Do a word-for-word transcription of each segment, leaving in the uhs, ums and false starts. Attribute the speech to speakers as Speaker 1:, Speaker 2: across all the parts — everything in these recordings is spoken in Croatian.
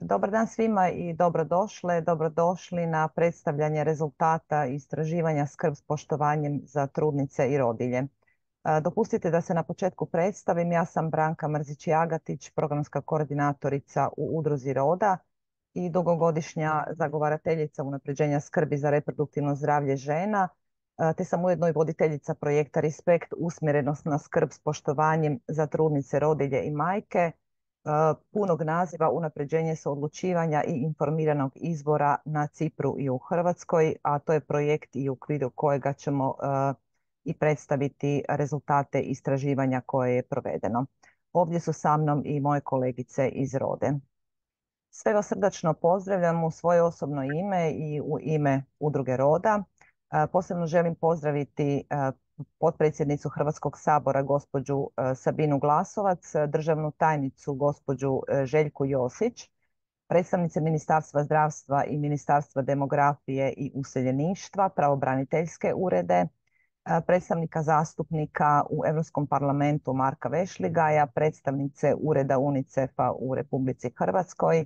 Speaker 1: Dobar dan svima i dobrodošle, dobrodošli na predstavljanje rezultata istraživanja Skrb s poštovanjem za trudnice i rodilje. E, Dopustite da se na početku predstavim. Ja sam Branka Mrzić-Jagatić, programska koordinatorica u Udruzi Roda i dugogodišnja zagovarateljica unapređenja skrbi za reproduktivno zdravlje žena, e, te sam ujedno i voditeljica projekta Respekt usmjerenost na skrb s poštovanjem za trudnice, rodilje i majke, punog naziva Unapređenje suodlučivanja i informiranog izbora na Cipru i u Hrvatskoj, a to je projekt i u okviru kojega ćemo e, i predstaviti rezultate istraživanja koje je provedeno. Ovdje su sa mnom i moje kolegice iz Rode. Sve vas srdačno pozdravljam u svoje osobno ime i u ime Udruge Roda. E, Posebno želim pozdraviti e, potpredsjednicu Hrvatskog sabora gospođu e, Sabinu Glasovac, državnu tajnicu gospođu e, Željku Josić, predstavnice Ministarstva zdravstva i Ministarstva demografije i useljeništva, pravobraniteljske urede, e, predstavnika zastupnika u Europskom parlamentu Marka Vešligaja, predstavnice Ureda UNICEF-a u Republici Hrvatskoj,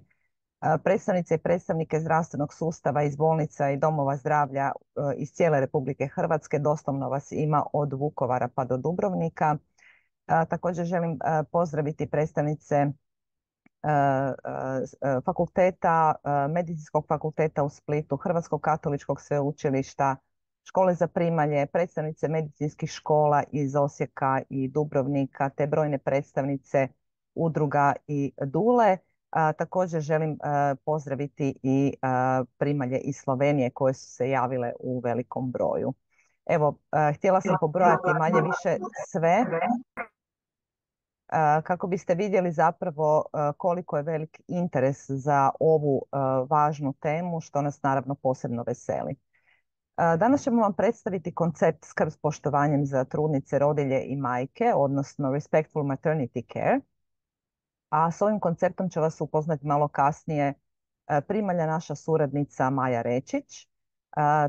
Speaker 1: predstavnice i predstavnike zdravstvenog sustava iz bolnica i domova zdravlja iz cijele Republike Hrvatske. Doslovno vas ima od Vukovara pa do Dubrovnika. Također želim pozdraviti predstavnice fakulteta, Medicinskog fakulteta u Splitu, Hrvatskog katoličkog sveučilišta, škole za primalje, predstavnice medicinskih škola iz Osijeka i Dubrovnika, te brojne predstavnice udruga i dule. A, također želim a, pozdraviti i a, primalje iz Slovenije koje su se javile u velikom broju. Evo, a, htjela sam pobrojati manje više sve a, kako biste vidjeli zapravo a, koliko je velik interes za ovu a, važnu temu, što nas naravno posebno veseli. A, Danas ćemo vam predstaviti koncept skrb s poštovanjem za trudnice, rodilje i majke, odnosno Respectful Maternity Care. A s ovim konceptom će vas upoznati malo kasnije e, primalja naša suradnica Maja Rečić. E,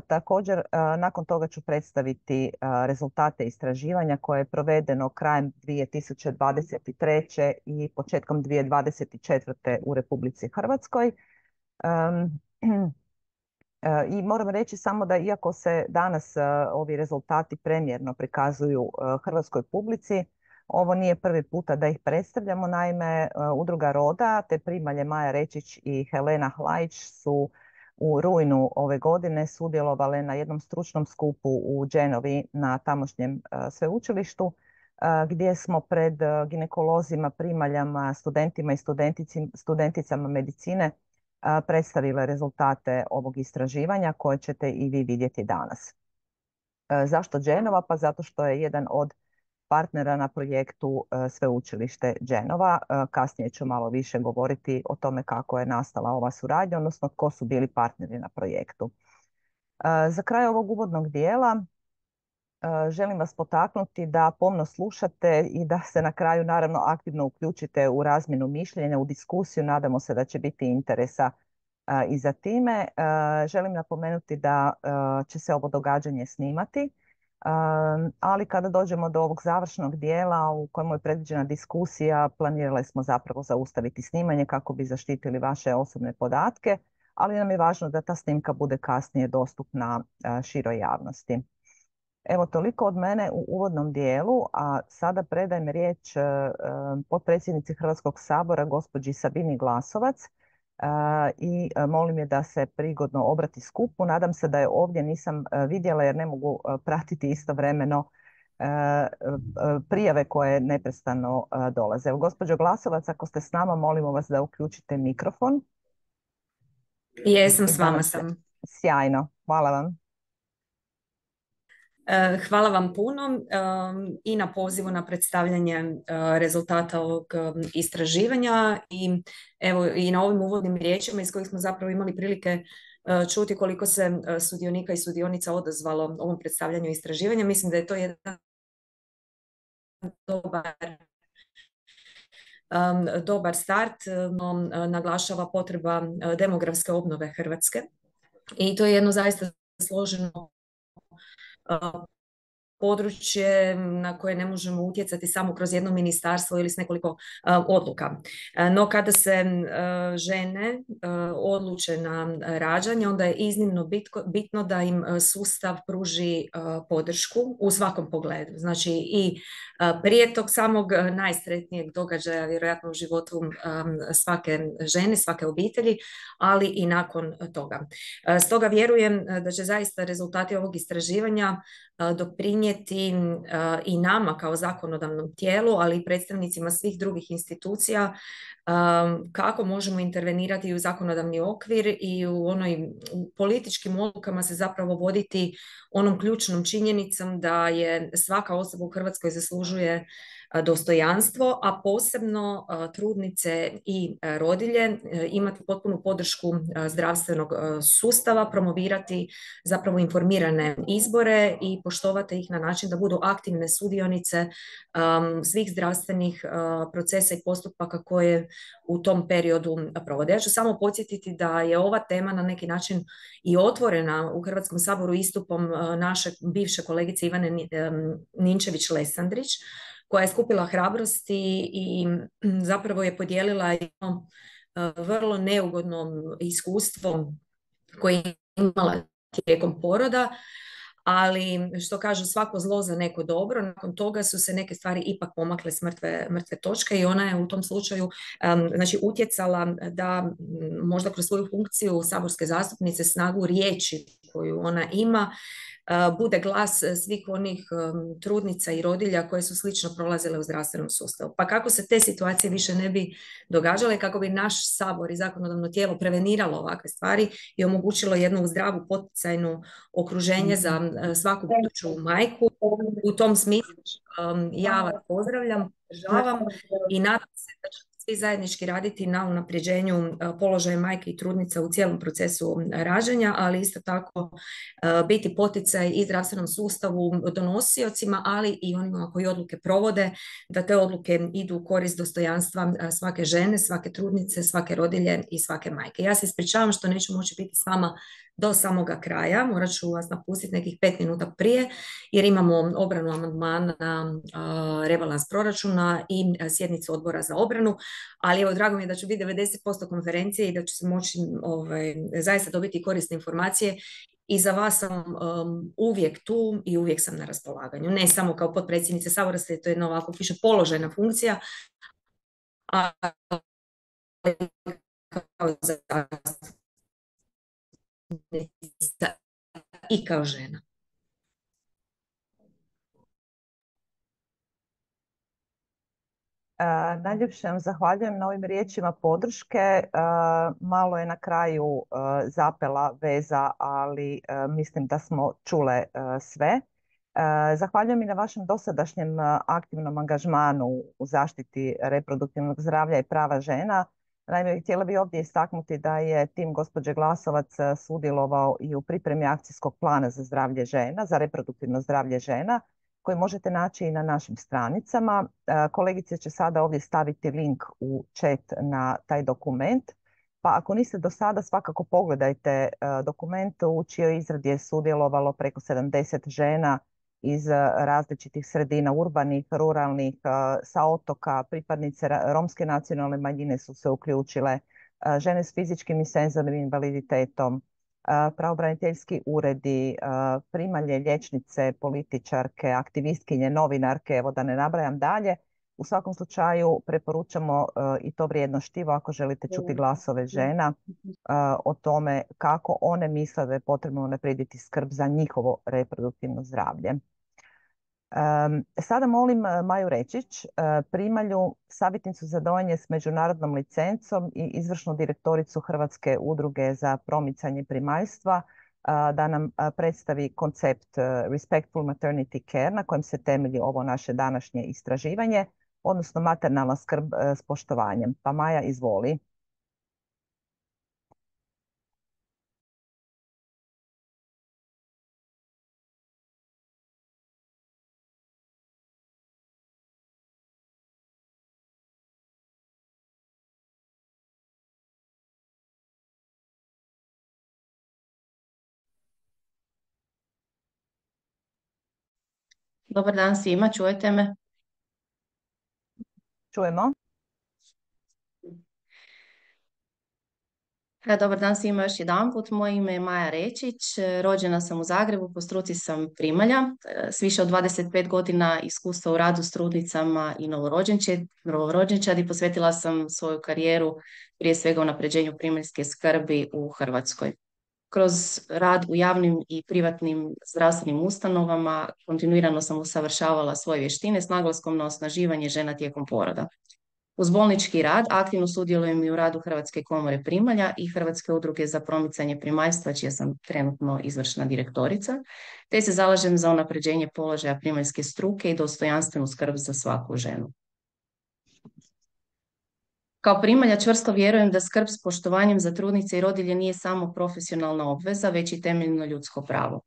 Speaker 1: Također, e, nakon toga ću predstaviti e, rezultate istraživanja koje je provedeno krajem dvije tisuće dvadeset treće i početkom dvije tisuće dvadeset četvrte u Republici Hrvatskoj. Em, e, I moram reći samo da iako se danas e, ovi rezultati premjerno prikazuju e, hrvatskoj publici, ovo nije prvi puta da ih predstavljamo. Naime, e, Udruga Roda te primalje Maja Rečić i Helena Hlajić su u rujnu ove godine sudjelovale na jednom stručnom skupu u Genovi na tamošnjem e, sveučilištu, e, gdje smo pred e, ginekolozima, primaljama, studentima i studenticim- studenticama medicine e, predstavile rezultate ovog istraživanja koje ćete i vi vidjeti danas. E, Zašto Genova? Pa zato što je jedan od partnera na projektu e, Sveučilište Genova. E, Kasnije ću malo više govoriti o tome kako je nastala ova suradnja, odnosno tko su bili partneri na projektu. E, Za kraj ovog uvodnog dijela e, želim vas potaknuti da pomno slušate i da se na kraju naravno aktivno uključite u razmjenu mišljenja, u diskusiju. Nadamo se da će biti interesa e, i za time. E, Želim napomenuti da e, će se ovo događanje snimati. Um, ali kada dođemo do ovog završnog dijela u kojemu je predviđena diskusija, planirali smo zapravo zaustaviti snimanje kako bi zaštitili vaše osobne podatke, ali nam je važno da ta snimka bude kasnije dostupna uh, široj javnosti. Evo toliko od mene u uvodnom dijelu, a sada predajem riječ uh, uh, potpredsjednici Hrvatskog sabora gospođi Sabini Glasovac, Uh, i uh, molim je da se prigodno obrati skupu. Nadam se da je ovdje, nisam uh, vidjela jer ne mogu uh, pratiti istovremeno uh, uh, prijave koje neprestano uh, dolaze. Evo, gospođo Glasovac, ako ste s nama, molimo vas da uključite mikrofon.
Speaker 2: Jesam,
Speaker 1: I
Speaker 2: s
Speaker 1: da nam
Speaker 2: vama
Speaker 1: se...
Speaker 2: sam.
Speaker 1: Sjajno, hvala vam.
Speaker 2: E, Hvala vam puno um, i na pozivu na predstavljanje uh, rezultata ovog um, istraživanja i evo i na ovim uvodnim riječima iz kojih smo zapravo imali prilike uh, čuti koliko se uh, sudionika i sudionica odazvalo ovom predstavljanju istraživanja. Mislim da je to jedan dobar, um, dobar start, no uh, naglašava potreba uh, demografske obnove Hrvatske i to je jedno zaista složeno uh, područje na koje ne možemo utjecati samo kroz jedno ministarstvo ili s nekoliko uh, odluka. Uh, no kada se uh, žene uh, odluče na rađanje, onda je iznimno bitko, bitno da im sustav pruži uh, podršku u svakom pogledu. Znači i uh, prije tog samog najsretnijeg događaja, vjerojatno u životu um, svake žene, svake obitelji, ali i nakon toga. Uh, stoga vjerujem da će zaista rezultati ovog istraživanja uh, doprinijeti i nama kao zakonodavnom tijelu, ali i predstavnicima svih drugih institucija kako možemo intervenirati u zakonodavni okvir i u onoj u političkim odlukama se zapravo voditi onom ključnom činjenicom da je svaka osoba u Hrvatskoj zaslužuje dostojanstvo, a posebno trudnice i rodilje imati potpunu podršku zdravstvenog sustava, promovirati zapravo informirane izbore i poštovati ih na način da budu aktivne sudionice um, svih zdravstvenih uh, procesa i postupaka koje u tom periodu provode. Ja ću samo podsjetiti da je ova tema na neki način i otvorena u Hrvatskom saboru istupom uh, naše bivše kolegice Ivane Ninčević-Lesandrić, koja je skupila hrabrosti i zapravo je podijelila jedno vrlo neugodno iskustvo koje je imala tijekom poroda, ali što kažu svako zlo za neko dobro, nakon toga su se neke stvari ipak pomakle s mrtve, mrtve točke i ona je u tom slučaju um, znači utjecala da možda kroz svoju funkciju saborske zastupnice snagu riječi koju ona ima bude glas svih onih um, trudnica i rodilja koje su slično prolazile u zdravstvenom sustavu. Pa kako se te situacije više ne bi događale, kako bi naš sabor i zakonodavno tijelo preveniralo ovakve stvari i omogućilo jednu zdravu poticajnu okruženje za uh, svaku buduću majku. U tom smislu um, ja vas pozdravljam, podržavam i nadam se da će svi zajednički raditi na unapređenju položaja majke i trudnica u cijelom procesu rađanja, ali isto tako biti poticaj i zdravstvenom sustavu, donosiocima, ali i onima koji odluke provode, da te odluke idu u korist dostojanstva svake žene, svake trudnice, svake rodilje i svake majke. Ja se ispričavam što neću moći biti s vama do samoga kraja, morat ću vas napustiti nekih pet minuta prije, jer imamo obranu amandmana na rebalans proračuna i sjednicu odbora za obranu, ali evo, drago mi je da ću biti devedeset posto konferencije i da ću se moći ovaj, zaista dobiti korisne informacije i za vas sam um, uvijek tu i uvijek sam na raspolaganju. Ne samo kao potpredsjednice Sabora, to je jedna ovako piše položajna funkcija, a kao zastupnica i kao žena.
Speaker 1: Uh, najljepše vam zahvaljujem na ovim riječima podrške. Uh, malo je na kraju uh, zapela veza, ali uh, mislim da smo čule uh, sve. Uh, zahvaljujem i na vašem dosadašnjem uh, aktivnom angažmanu u zaštiti reproduktivnog zdravlja i prava žena. Naime, htjela bih ovdje istaknuti da je tim gospođe Glasovac sudjelovao i u pripremi akcijskog plana za zdravlje žena, za reproduktivno zdravlje žena, koji možete naći i na našim stranicama. Kolegice će sada ovdje staviti link u chat na taj dokument. Pa ako niste do sada, svakako pogledajte dokument. U čijoj izradi je sudjelovalo preko sedamdeset žena iz različitih sredina, urbanih, ruralnih, sa otoka. Pripadnice romske nacionalne manjine su se uključile, žene s fizičkim i senzornim invaliditetom, pravobraniteljski uredi, primalje, liječnice, političarke, aktivistkinje, novinarke, evo da ne nabrajam dalje. U svakom slučaju preporučamo i to vrijedno štivo ako želite čuti glasove žena o tome kako one misle da je potrebno unaprijediti skrb za njihovo reproduktivno zdravlje. Sada molim Maju Rečić, primalju, savjetnicu za dojenje s međunarodnom licencom i izvršnu direktoricu Hrvatske udruge za promicanje primaljstva, da nam predstavi koncept Respectful Maternity Care na kojem se temelji ovo naše današnje istraživanje, odnosno maternalna skrb s poštovanjem. Pa Maja, izvoli.
Speaker 3: Dobar dan svima, čujete me?
Speaker 1: Čujemo.
Speaker 3: E, Dobar dan svima još jedanput. Moje ime je Maja Rečić, e, rođena sam u Zagrebu, po struci sam primalja, e, s više od dvadeset pet godina iskustva u radu s trudnicama i novorođenče- novorođenčadi. Posvetila sam svoju karijeru prije svega unapređenju primaljske skrbi u Hrvatskoj. Kroz rad u javnim i privatnim zdravstvenim ustanovama kontinuirano sam usavršavala svoje vještine s naglaskom na osnaživanje žena tijekom poroda. Uz bolnički rad aktivno sudjelujem i u radu Hrvatske komore primalja i Hrvatske udruge za promicanje primaljstva, čija sam trenutno izvršna direktorica, te se zalažem za unapređenje položaja primaljske struke i dostojanstvenu skrb za svaku ženu. Kao primalja čvrsto vjerujem da skrb s poštovanjem za trudnice i rodilje nije samo profesionalna obveza, već i temeljno ljudsko pravo.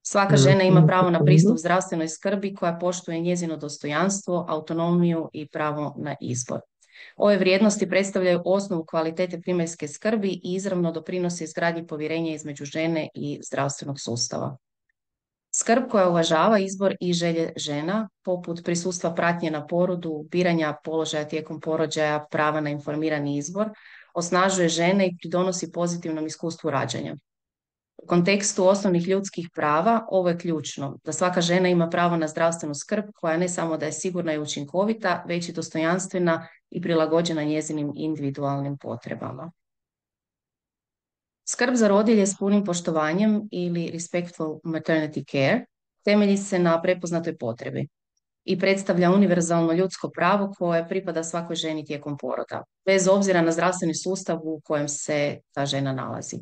Speaker 3: Svaka žena ima pravo na pristup zdravstvenoj skrbi koja poštuje njezino dostojanstvo, autonomiju i pravo na izbor. Ove vrijednosti predstavljaju osnovu kvalitete primaljske skrbi i izravno doprinose izgradnji povjerenja između žene i zdravstvenog sustava. Skrb koja uvažava izbor i želje žena, poput prisustva pratnje na porodu, biranja položaja tijekom porođaja, prava na informirani izbor, osnažuje žene i pridonosi pozitivnom iskustvu rađanja. U kontekstu osnovnih ljudskih prava ovo je ključno, da svaka žena ima pravo na zdravstvenu skrb koja ne samo da je sigurna i učinkovita, već i dostojanstvena i prilagođena njezinim individualnim potrebama. Skrb za rodilje s punim poštovanjem ili respectful maternity care temelji se na prepoznatoj potrebi i predstavlja univerzalno ljudsko pravo koje pripada svakoj ženi tijekom poroda, bez obzira na zdravstveni sustav u kojem se ta žena nalazi.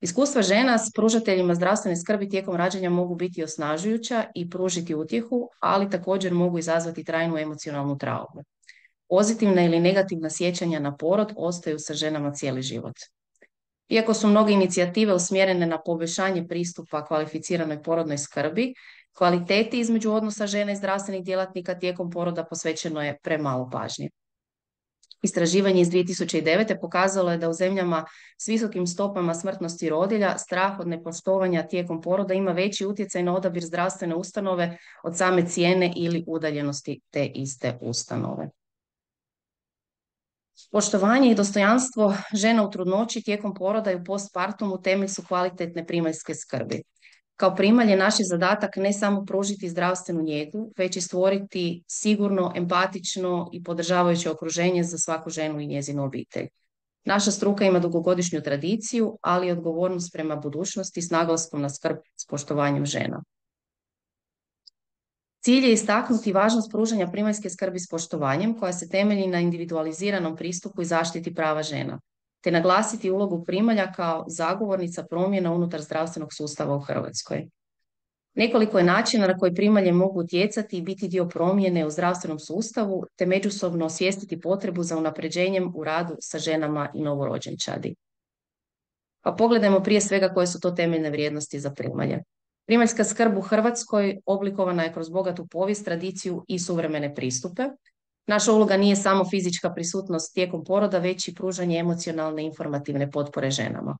Speaker 3: Iskustva žena s pružateljima zdravstvene skrbi tijekom rađanja mogu biti osnažujuća i pružiti utjehu, ali također mogu izazvati trajnu emocionalnu traumu. Pozitivna ili negativna sjećanja na porod ostaju sa ženama cijeli život. Iako su mnoge inicijative usmjerene na poboljšanje pristupa kvalificiranoj porodnoj skrbi, kvaliteti između odnosa žena i zdravstvenih djelatnika tijekom poroda posvećeno je premalo pažnje. Istraživanje iz dvije tisuće devete. pokazalo je da u zemljama s visokim stopama smrtnosti rodilja strah od nepoštovanja tijekom poroda ima veći utjecaj na odabir zdravstvene ustanove od same cijene ili udaljenosti te iste ustanove. Poštovanje i dostojanstvo žena u trudnoći tijekom poroda i u postpartumu temelj su kvalitetne primaljske skrbi. Kao primalje naš je zadatak ne samo pružiti zdravstvenu njegu, već i stvoriti sigurno, empatično i podržavajuće okruženje za svaku ženu i njezinu obitelj. Naša struka ima dugogodišnju tradiciju, ali i odgovornost prema budućnosti s naglaskom na skrb s poštovanjem žena. Cilj je istaknuti važnost pružanja primaljske skrbi s poštovanjem koja se temelji na individualiziranom pristupu i zaštiti prava žena, te naglasiti ulogu primalja kao zagovornica promjena unutar zdravstvenog sustava u Hrvatskoj. Nekoliko je načina na koji primalje mogu utjecati i biti dio promjene u zdravstvenom sustavu, te međusobno osvijestiti potrebu za unapređenjem u radu sa ženama i novorođenčadi. Pa pogledajmo prije svega koje su to temeljne vrijednosti za primalje. Primaljska skrb u Hrvatskoj oblikovana je kroz bogatu povijest, tradiciju i suvremene pristupe. Naša uloga nije samo fizička prisutnost tijekom poroda, već i pružanje emocionalne i informativne potpore ženama.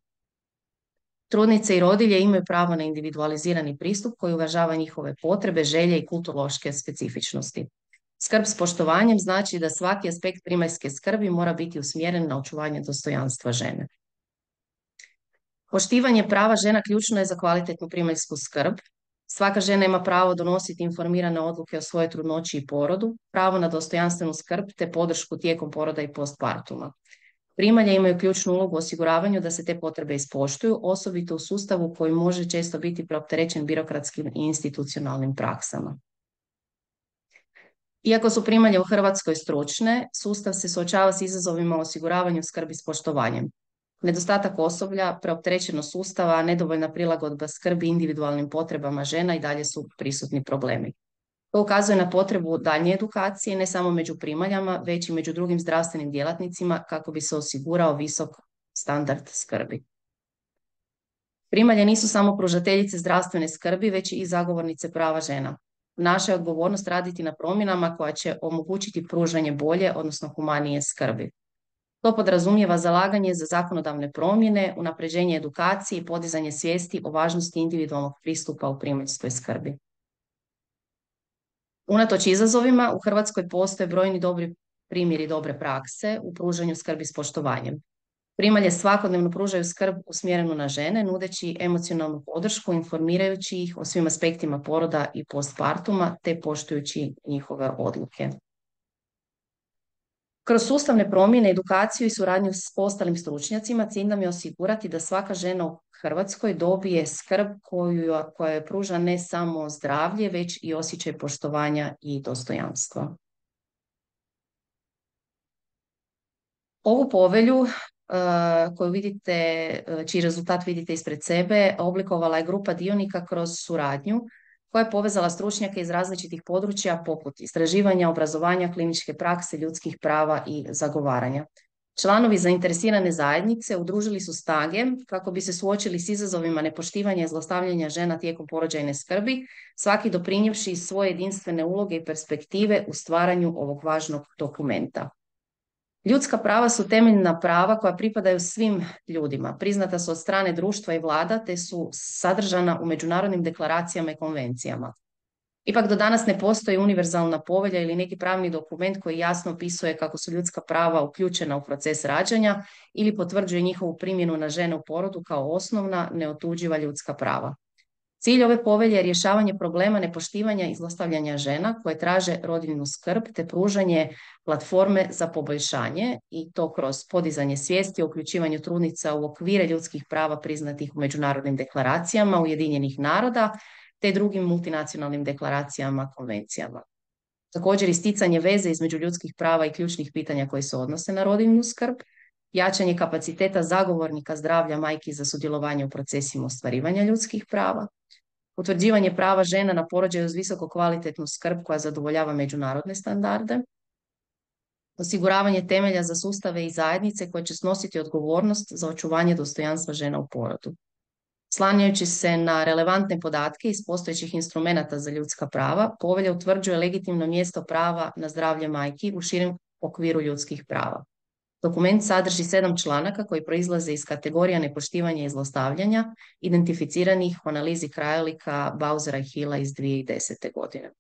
Speaker 3: Trudnice i rodilje imaju pravo na individualizirani pristup koji uvažava njihove potrebe, želje i kulturološke specifičnosti. Skrb s poštovanjem znači da svaki aspekt primaljske skrbi mora biti usmjeren na očuvanje dostojanstva žene. Poštivanje prava žena ključno je za kvalitetnu primaljsku skrb. Svaka žena ima pravo donositi informirane odluke o svojoj trudnoći i porodu, pravo na dostojanstvenu skrb te podršku tijekom poroda i postpartuma. Primalje imaju ključnu ulogu u osiguravanju da se te potrebe ispoštuju, osobito u sustavu koji može često biti preopterećen birokratskim i institucionalnim praksama. Iako su primalje u Hrvatskoj stručne, sustav se suočava s izazovima u osiguravanju skrbi s poštovanjem. Nedostatak osoblja, preopterećenost sustava, nedovoljna prilagodba skrbi individualnim potrebama žena i dalje su prisutni problemi. To ukazuje na potrebu daljnje edukacije ne samo među primaljama, već i među drugim zdravstvenim djelatnicima kako bi se osigurao visok standard skrbi. Primalje nisu samo pružateljice zdravstvene skrbi, već i zagovornice prava žena. Naša je odgovornost raditi na promjenama koja će omogućiti pružanje bolje, odnosno humanije skrbi. To podrazumijeva zalaganje za zakonodavne promjene, unapređenje edukacije i podizanje svijesti o važnosti individualnog pristupa u primaljskoj skrbi. Unatoč izazovima, u Hrvatskoj postoje brojni dobri primjeri dobre prakse u pružanju skrbi s poštovanjem. Primalje svakodnevno pružaju skrb usmjerenu na žene, nudeći emocionalnu podršku, informirajući ih o svim aspektima poroda i postpartuma, te poštujući njihove odluke. Kroz sustavne promjene, edukaciju i suradnju s ostalim stručnjacima cilj nam je osigurati da svaka žena u Hrvatskoj dobije skrb koju, koja je pruža ne samo zdravlje, već i osjećaj poštovanja i dostojanstva. Ovu povelju koju vidite, čiji rezultat vidite ispred sebe, oblikovala je grupa dionika kroz suradnju koja je povezala stručnjake iz različitih područja poput istraživanja, obrazovanja, kliničke prakse, ljudskih prava i zagovaranja. Članovi zainteresirane zajednice udružili su snage kako bi se suočili s izazovima nepoštivanja i zlostavljanja žena tijekom porođajne skrbi, svaki doprinijevši svoje jedinstvene uloge i perspektive u stvaranju ovog važnog dokumenta. Ljudska prava su temeljna prava koja pripadaju svim ljudima, priznata su od strane društva i vlada, te su sadržana u međunarodnim deklaracijama i konvencijama. Ipak do danas ne postoji univerzalna povelja ili neki pravni dokument koji jasno opisuje kako su ljudska prava uključena u proces rađanja ili potvrđuje njihovu primjenu na žene u porodu kao osnovna, neotuđiva ljudska prava. Cilj ove povelje je rješavanje problema nepoštivanja i zlostavljanja žena koje traže rodiljnu skrb te pružanje platforme za poboljšanje i to kroz podizanje svijesti o uključivanju trudnica u okvire ljudskih prava priznatih u međunarodnim deklaracijama Ujedinjenih naroda te drugim multinacionalnim deklaracijama, konvencijama. Također isticanje veze između ljudskih prava i ključnih pitanja koji se odnose na rodiljnu skrb, jačanje kapaciteta zagovornika zdravlja majki za sudjelovanje u procesima ostvarivanja ljudskih prava, utvrđivanje prava žena na porođaju uz visoko kvalitetnu skrb koja zadovoljava međunarodne standarde, osiguravanje temelja za sustave i zajednice koje će snositi odgovornost za očuvanje dostojanstva žena u porodu. Slanjajući se na relevantne podatke iz postojećih instrumenata za ljudska prava, povelja utvrđuje legitimno mjesto prava na zdravlje majki u širem okviru ljudskih prava. Dokument sadrži sedam članaka koji proizlaze iz kategorija nepoštivanja i zlostavljanja, identificiranih u analizi krajolika Bausera i Hilla iz dvije tisuće desete. godine.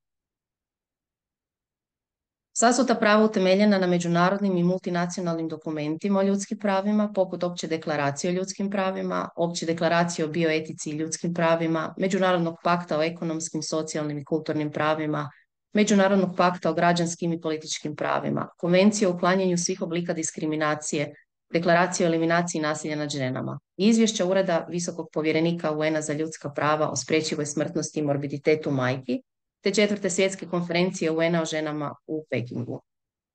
Speaker 3: Sva su ta prava utemeljena na međunarodnim i multinacionalnim dokumentima o ljudskim pravima, poput Opće deklaracije o ljudskim pravima, Opće deklaracije o bioetici i ljudskim pravima, Međunarodnog pakta o ekonomskim, socijalnim i kulturnim pravima, Međunarodnog pakta o građanskim i političkim pravima, Konvencije o uklanjanju svih oblika diskriminacije, Deklaracije o eliminaciji nasilja nad ženama, Izvješća Ureda Visokog povjerenika U N-a za ljudska prava o spriječivoj smrtnosti i morbiditetu majki, te četvrte svjetske konferencije U N-a o ženama u Pekingu.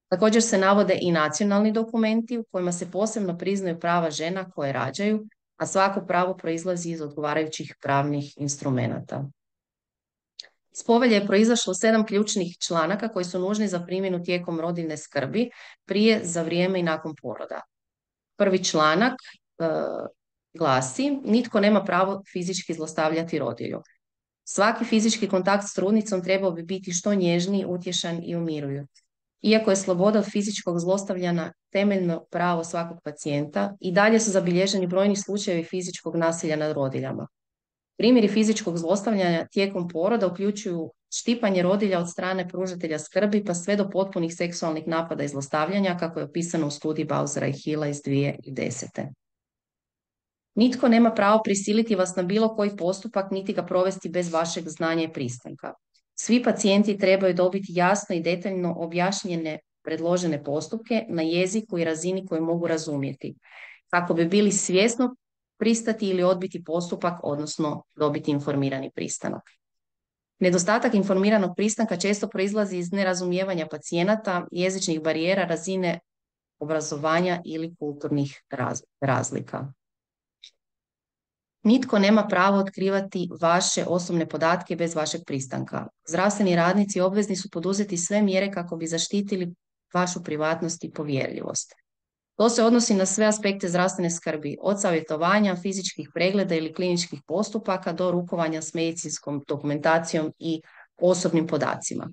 Speaker 3: Također se navode i nacionalni dokumenti u kojima se posebno priznaju prava žena koje rađaju, a svako pravo proizlazi iz odgovarajućih pravnih instrumenata. Iz povelje je proizašlo sedam ključnih članaka koji su nužni za primjenu tijekom rodiljne skrbi, prije, za vrijeme i nakon poroda. Prvi članak e, glasi: nitko nema pravo fizički zlostavljati rodilju. Svaki fizički kontakt s trudnicom trebao bi biti što nježniji, utješan i umirujući. Iako je sloboda od fizičkog zlostavljanja temeljno pravo svakog pacijenta, i dalje su zabilježeni brojni slučajevi fizičkog nasilja nad rodiljama. Primjeri fizičkog zlostavljanja tijekom poroda uključuju štipanje rodilja od strane pružatelja skrbi pa sve do potpunih seksualnih napada i zlostavljanja, kako je opisano u studiji Bausera i Hilla iz dvije tisuće desete. Nitko nema pravo prisiliti vas na bilo koji postupak, niti ga provesti bez vašeg znanja i pristanka. Svi pacijenti trebaju dobiti jasno i detaljno objašnjene predložene postupke na jeziku i razini koju mogu razumjeti, kako bi bili svjesno pristati ili odbiti postupak, odnosno dobiti informirani pristanak. Nedostatak informiranog pristanka često proizlazi iz nerazumijevanja pacijenata, jezičnih barijera, razine obrazovanja ili kulturnih razlika. Nitko nema pravo otkrivati vaše osobne podatke bez vašeg pristanka. Zdravstveni radnici obvezni su poduzeti sve mjere kako bi zaštitili vašu privatnost i povjerljivost. To se odnosi na sve aspekte zdravstvene skrbi, od savjetovanja, fizičkih pregleda ili kliničkih postupaka do rukovanja s medicinskom dokumentacijom i osobnim podacima.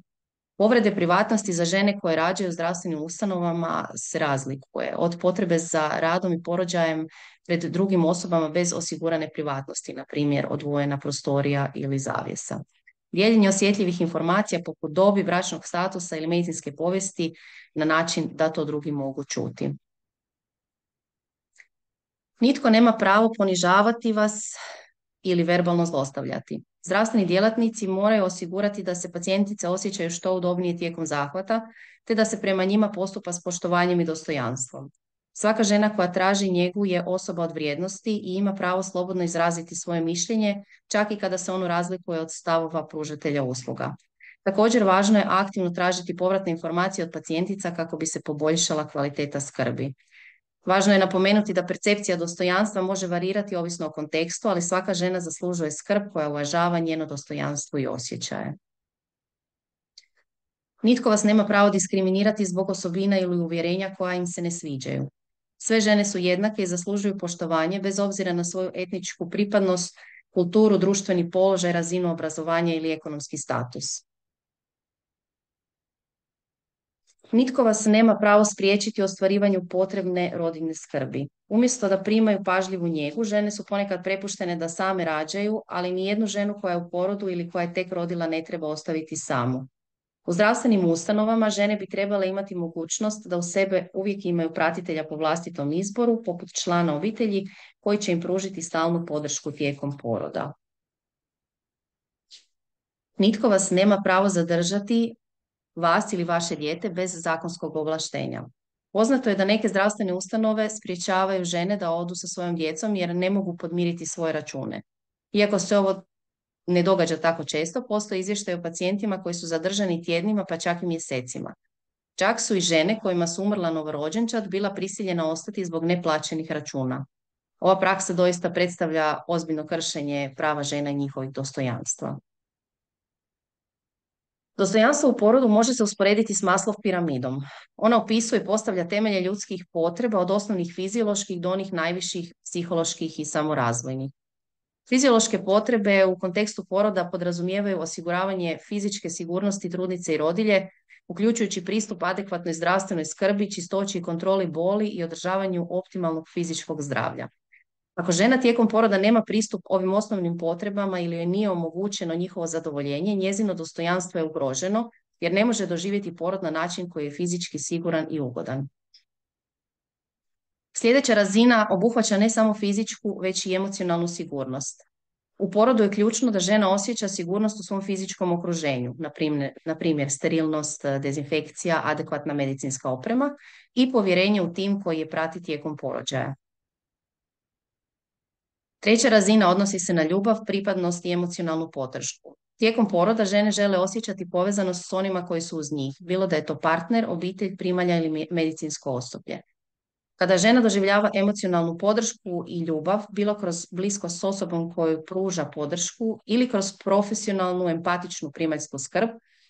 Speaker 3: Povrede privatnosti za žene koje rađaju u zdravstvenim ustanovama se razlikuje od potrebe za radom i porođajem pred drugim osobama bez osigurane privatnosti, na primjer odvojena prostorija ili zavjesa. Dijeljenje osjetljivih informacija poput dobi, bračnog statusa ili medicinske povijesti na način da to drugi mogu čuti. Nitko nema pravo ponižavati vas ili verbalno zlostavljati. Zdravstveni djelatnici moraju osigurati da se pacijentice osjećaju što udobnije tijekom zahvata, te da se prema njima postupa s poštovanjem i dostojanstvom. Svaka žena koja traži njegu je osoba od vrijednosti i ima pravo slobodno izraziti svoje mišljenje, čak i kada se ono razlikuje od stavova pružatelja usluga. Također, važno je aktivno tražiti povratne informacije od pacijentica kako bi se poboljšala kvaliteta skrbi. Važno je napomenuti da percepcija dostojanstva može varirati ovisno o kontekstu, ali svaka žena zaslužuje skrb koja uvažava njeno dostojanstvo i osjećaje. Nitko vas nema pravo diskriminirati zbog osobina ili uvjerenja koja im se ne sviđaju. Sve žene su jednake i zaslužuju poštovanje bez obzira na svoju etničku pripadnost, kulturu, društveni položaj, razinu obrazovanja ili ekonomski status. Nitko vas nema pravo spriječiti u ostvarivanju potrebne rodiljne skrbi. Umjesto da primaju pažljivu njegu, žene su ponekad prepuštene da same rađaju, ali ni jednu ženu koja je u porodu ili koja je tek rodila ne treba ostaviti samu. U zdravstvenim ustanovama žene bi trebale imati mogućnost da u sebe uvijek imaju pratitelja po vlastitom izboru, poput člana obitelji, koji će im pružiti stalnu podršku tijekom poroda. Nitko vas nema pravo zadržati, vas ili vaše dijete, bez zakonskog ovlaštenja. Poznato je da neke zdravstvene ustanove sprječavaju žene da odu sa svojom djecom jer ne mogu podmiriti svoje račune. Iako se ovo ne događa tako često, postoji izvještaj o pacijentima koji su zadržani tjednima pa čak i mjesecima. Čak su i žene kojima su umrla novorođenčad bila prisiljena ostati zbog neplaćenih računa. Ova praksa doista predstavlja ozbiljno kršenje prava žena i njihovih dostojanstva. Dostojanstvo u porodu može se usporediti s Maslov piramidom. Ona opisuje i postavlja temelje ljudskih potreba od osnovnih fizioloških do onih najviših psiholoških i samorazvojnih. Fiziološke potrebe u kontekstu poroda podrazumijevaju osiguravanje fizičke sigurnosti trudnice i rodilje, uključujući pristup adekvatnoj zdravstvenoj skrbi, čistoći i kontroli boli i održavanju optimalnog fizičkog zdravlja. Ako žena tijekom poroda nema pristup ovim osnovnim potrebama ili joj nije omogućeno njihovo zadovoljenje, njezino dostojanstvo je ugroženo jer ne može doživjeti porod na način koji je fizički siguran i ugodan. Sljedeća razina obuhvaća ne samo fizičku, već i emocionalnu sigurnost. U porodu je ključno da žena osjeća sigurnost u svom fizičkom okruženju, na primjer, na primjer sterilnost, dezinfekcija, adekvatna medicinska oprema i povjerenje u tim koji je prati tijekom porođaja. Treća razina odnosi se na ljubav, pripadnost i emocionalnu podršku. Tijekom poroda žene žele osjećati povezanost s onima koji su uz njih, bilo da je to partner, obitelj, primalja ili medicinsko osoblje. Kada žena doživljava emocionalnu podršku i ljubav, bilo kroz bliskost s osobom koju pruža podršku ili kroz profesionalnu, empatičnu primaljsku skrb,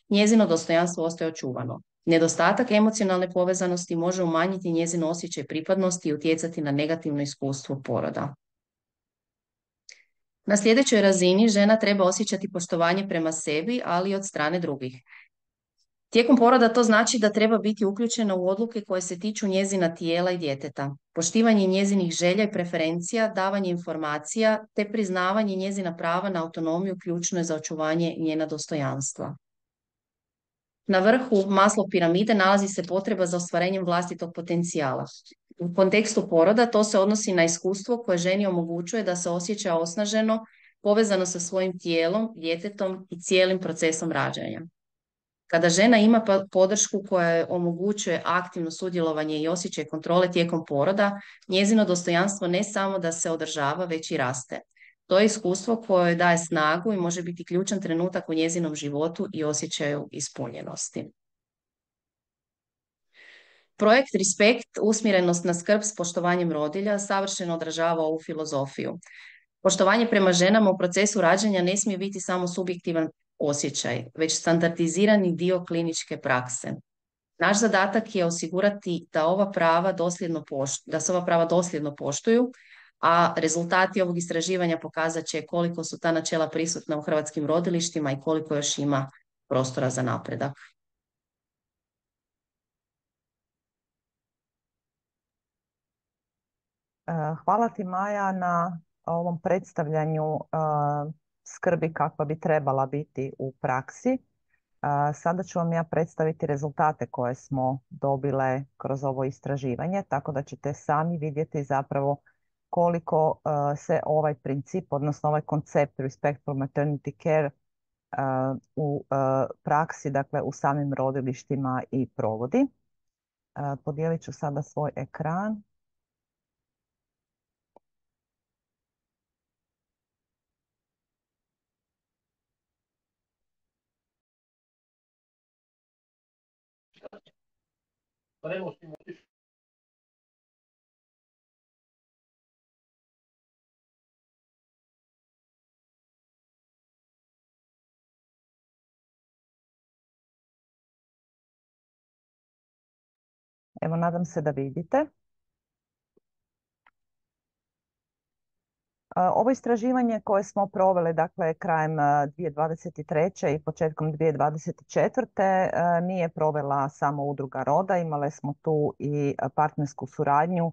Speaker 3: njezino dostojanstvo ostaje očuvano. Nedostatak emocionalne povezanosti može umanjiti njezino osjećaj pripadnosti i utjecati na negativno iskustvo poroda. Na sljedećoj razini žena treba osjećati poštovanje prema sebi, ali i od strane drugih. Tijekom poroda to znači da treba biti uključena u odluke koje se tiču njezina tijela i djeteta, poštivanje njezinih želja i preferencija, davanje informacija te priznavanje njezina prava na autonomiju ključno je za očuvanje njena dostojanstva. Na vrhu Maslov piramide nalazi se potreba za ostvarenjem vlastitog potencijala. U kontekstu poroda to se odnosi na iskustvo koje ženi omogućuje da se osjeća osnaženo, povezano sa svojim tijelom, djetetom i cijelim procesom rađanja. Kada žena ima podršku koja joj omogućuje aktivno sudjelovanje i osjećaj kontrole tijekom poroda, njezino dostojanstvo ne samo da se održava, već i raste. To je iskustvo koje joj daje snagu i može biti ključan trenutak u njezinom životu i osjećaju ispunjenosti. Projekt Respekt, usmjerenost na skrb s poštovanjem rodilja, savršeno odražava ovu filozofiju. Poštovanje prema ženama u procesu rađanja ne smije biti samo subjektivan osjećaj, već standardizirani dio kliničke prakse. Naš zadatak je osigurati da ova prava dosljedno poštuju, da se ova prava dosljedno poštuju, a rezultati ovog istraživanja pokazat će koliko su ta načela prisutna u hrvatskim rodilištima i koliko još ima prostora za napredak.
Speaker 1: Hvala ti, Maja, na ovom predstavljanju skrbi kakva bi trebala biti u praksi. Sada ću vam ja predstaviti rezultate koje smo dobile kroz ovo istraživanje, tako da ćete sami vidjeti zapravo koliko se ovaj princip, odnosno ovaj koncept Respectful Maternity Care u praksi, dakle u samim rodilištima i provodi. Podijelit ću sada svoj ekran. Evo, nadam se da vidite. Ovo istraživanje koje smo proveli, dakle, krajem dvije tisuće dvadeset treće i početkom dvije tisuće dvadeset četvrte nije provela samo Udruga Roda. Imale smo tu i partnersku suradnju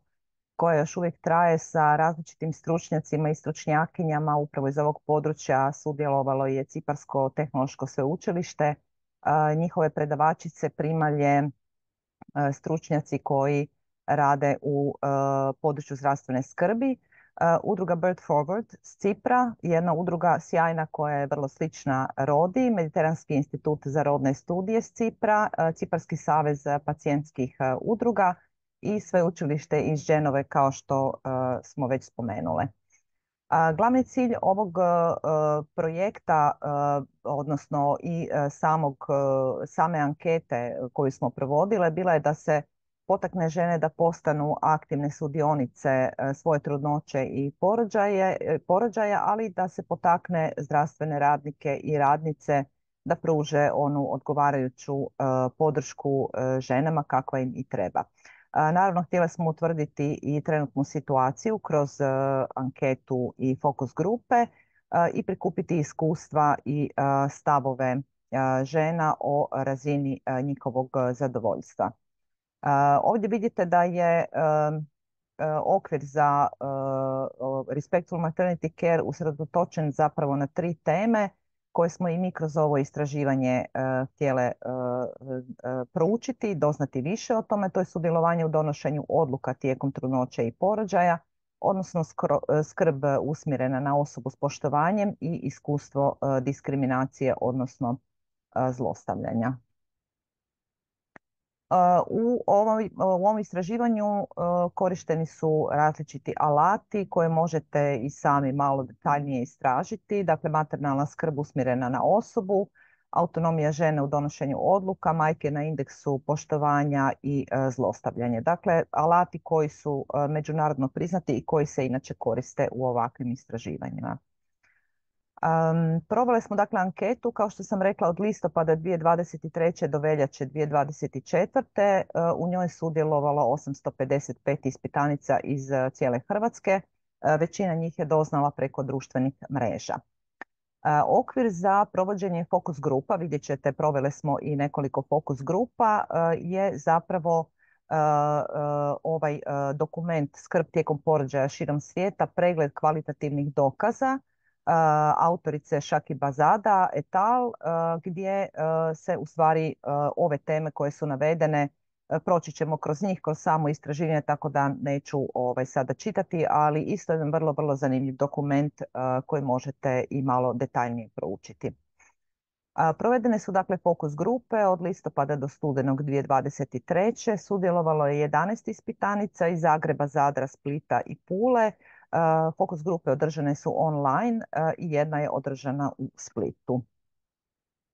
Speaker 1: koja još uvijek traje sa različitim stručnjacima i stručnjakinjama. Upravo iz ovog područja sudjelovalo je Ciparsko tehnološko sveučilište, njihove predavačice, primalje, stručnjaci koji rade u području zdravstvene skrbi. Udruga Birth Forward s Cipra, jedna udruga sjajna koja je vrlo slična Rodi, Mediteranski institut za rodne studije s Cipra, Ciparski savez pacijentskih udruga i sveučilište iz Ženove, kao što smo već spomenule. Glavni cilj ovog projekta, odnosno i samog, same ankete koju smo provodile, bila je da se potakne žene da postanu aktivne sudionice svoje trudnoće i porođaja, ali da se potakne zdravstvene radnike i radnice da pruže onu odgovarajuću podršku ženama kakva im i treba. Naravno, htjeli smo utvrditi i trenutnu situaciju kroz anketu i fokus grupe i prikupiti iskustva i stavove žena o razini njihovog zadovoljstva. Ovdje vidite da je okvir za Respectful Maternity Care usredotočen zapravo na tri teme koje smo i mi kroz ovo istraživanje htjele proučiti, doznati više o tome. To je sudjelovanje u donošenju odluka tijekom trudnoće i porođaja, odnosno skrb usmjerena na osobu s poštovanjem i iskustvo diskriminacije, odnosno zlostavljanja. U ovom, u ovom istraživanju korišteni su različiti alati koje možete i sami malo detaljnije istražiti. Dakle, maternalna skrb usmjerena na osobu, autonomija žene u donošenju odluka, majke na indeksu poštovanja i zlostavljanje. Dakle, alati koji su međunarodno priznati i koji se inače koriste u ovakvim istraživanjima. Um, proveli smo dakle anketu, kao što sam rekla, od listopada dvije tisuće dvadeset treće do veljače dvije tisuće dvadeset četvrte. Uh, u njoj je sudjelovalo osamsto pedeset pet ispitanica iz uh, cijele Hrvatske. Uh, većina njih je doznala preko društvenih mreža. Uh, okvir za provođenje fokus grupa, vidjet ćete, proveli smo i nekoliko fokus grupa, uh, je zapravo uh, uh, ovaj uh, dokument Skrb tijekom porođaja širom svijeta, pregled kvalitativnih dokaza, Uh, autorice Shakibazada et al, uh, gdje uh, se u stvari uh, ove teme koje su navedene, uh, proći ćemo kroz njih, kroz samo istraživanje, tako da neću ovaj, sada čitati, ali isto jedan vrlo, vrlo zanimljiv dokument uh, koji možete i malo detaljnije proučiti. Uh, provedene su dakle fokus grupe od listopada do studenog dvije tisuće dvadeset treće. Sudjelovalo je jedanaest ispitanica iz Zagreba, Zadra, Splita i Pule. Uh, fokus grupe održane su online uh, i jedna je održana u Splitu.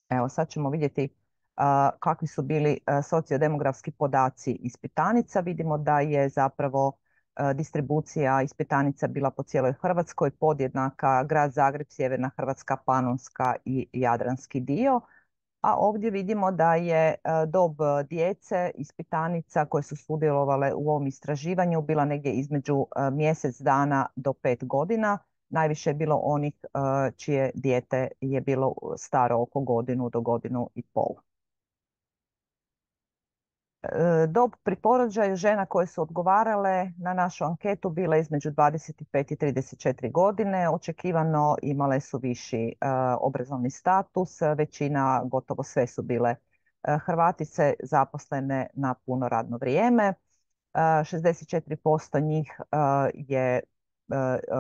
Speaker 1: Evo, sad ćemo vidjeti uh, kakvi su bili uh, sociodemografski podaci ispitanica. Vidimo da je zapravo uh, distribucija ispitanica bila po cijeloj Hrvatskoj podjednaka: Grad Zagreb, Sjeverna Hrvatska, Panonska i Jadranski dio. A ovdje vidimo da je dob djece ispitanica koje su sudjelovale u ovom istraživanju bila negdje između mjesec dana do pet godina. Najviše je bilo onih čije dijete je bilo staro oko godinu do godinu i pol. Dob pri porođaju žena koje su odgovarale na našu anketu bila između dvadeset pet i trideset četiri godine. Očekivano imale su viši obrazovni status. Većina, gotovo sve su bile Hrvatice zaposlene na puno radno vrijeme. šezdeset četiri posto njih je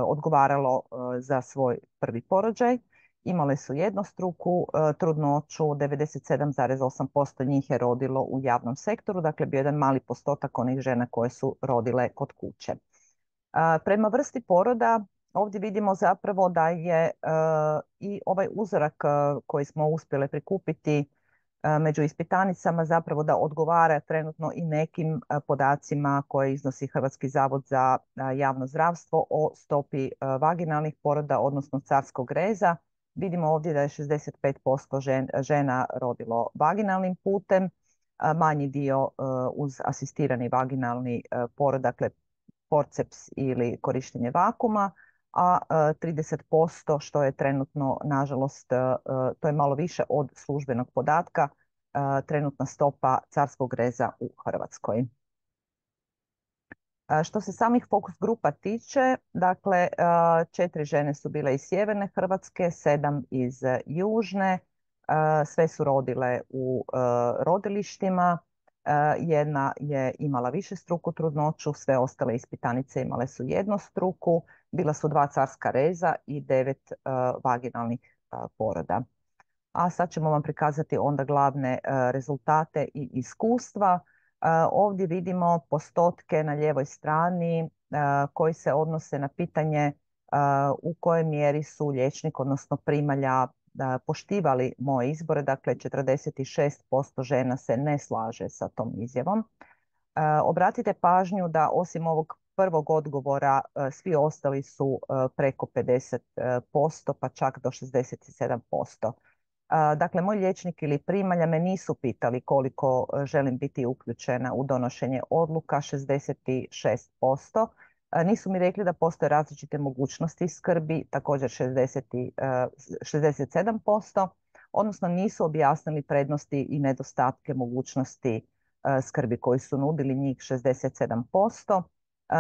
Speaker 1: odgovaralo za svoj prvi porođaj. Imale su jednostruku trudnoću, devedeset sedam zarez osam posto njih je rodilo u javnom sektoru, dakle bio jedan mali postotak onih žena koje su rodile kod kuće. Prema vrsti poroda ovdje vidimo zapravo da je i ovaj uzorak koji smo uspjeli prikupiti među ispitanicama zapravo da odgovara trenutno i nekim podacima koje iznosi Hrvatski zavod za javno zdravstvo o stopi vaginalnih poroda, odnosno carskog reza. Vidimo ovdje da je šezdeset pet posto žena rodilo vaginalnim putem, manji dio uz asistirani vaginalni porod, dakle forceps ili korištenje vakuma, a trideset posto što je trenutno, nažalost, to je malo više od službenog podatka, trenutna stopa carskog reza u Hrvatskoj. Što se samih fokus grupa tiče, dakle, četiri žene su bile iz sjeverne Hrvatske, sedam iz južne, sve su rodile u rodilištima, jedna je imala višestruku trudnoću, sve ostale ispitanice imale su jednostruku, bila su dva carska reza i devet vaginalnih poroda. A sad ćemo vam prikazati onda glavne rezultate i iskustva. Ovdje vidimo postotke na lijevoj strani koji se odnose na pitanje u kojoj mjeri su liječnik, odnosno primalja, poštivali moje izbore. Dakle, četrdeset šest posto žena se ne slaže sa tom izjavom. Obratite pažnju da osim ovog prvog odgovora svi ostali su preko pedeset posto pa čak do šezdeset sedam posto. Dakle, moj liječnik ili primalja me nisu pitali koliko želim biti uključena u donošenje odluka, šezdeset šest posto. Nisu mi rekli da postoje različite mogućnosti skrbi, također šezdeset sedam posto, odnosno nisu objasnili prednosti i nedostatke mogućnosti skrbi koji su nudili, njih šezdeset sedam posto.